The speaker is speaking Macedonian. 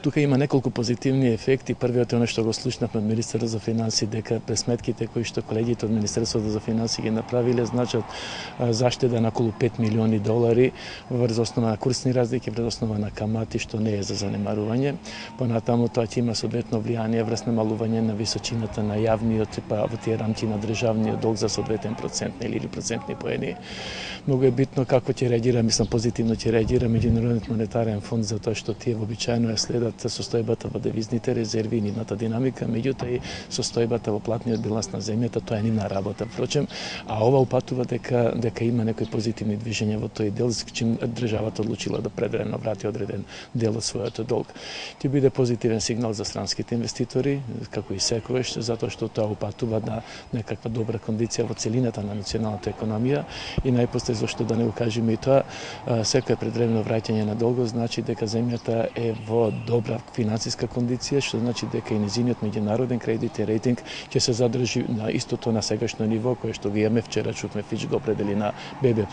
Тука има неколку позитивни ефекти. Првиот е оно што го слушнавме од Министерството за финансии, дека пресметките кои што колегите од Министерството за финансии ги направиле значат заштеда на околу 5 милиони долари врз основа на курсни разлики, врз основа на камати, што не е за занемарување. Понатаму тоа ќе има соодветно влијание врз намалување на височината на јавниот, па во тие рамки на државниот долг за соодветен процент или процентни поени. Многу е битно како ќе реагира, мислам позитивно ќе реагира Меѓународниот монетарен фонд, затоа што тие вообичаено ја следат состојбата во девизните резерви и нивната динамика, меѓутоа и состојбата во платниот биланс на земјата, тоа е нивна работа. Впрочем, а ова упатува дека има некои позитивни движења во тој дел, чим државата одлучила да предвремено врати одреден дел од својот долг. Ќе биде позитивен сигнал за странските инвеститори, како и секогаш, затоа што тоа упатува на некаква добра кондиција во целината на националната економија и најпосле зашто да не го кажеме и тоа, секој предвремено враќање на долгот значи дека земјата е во добра финансиска кондиција, што значи дека и незиниот меѓународен кредитен рейтинг ќе се задржи на истото на сегашно ниво кое што го имаме. Вчера чувме Фич го определи на BB+.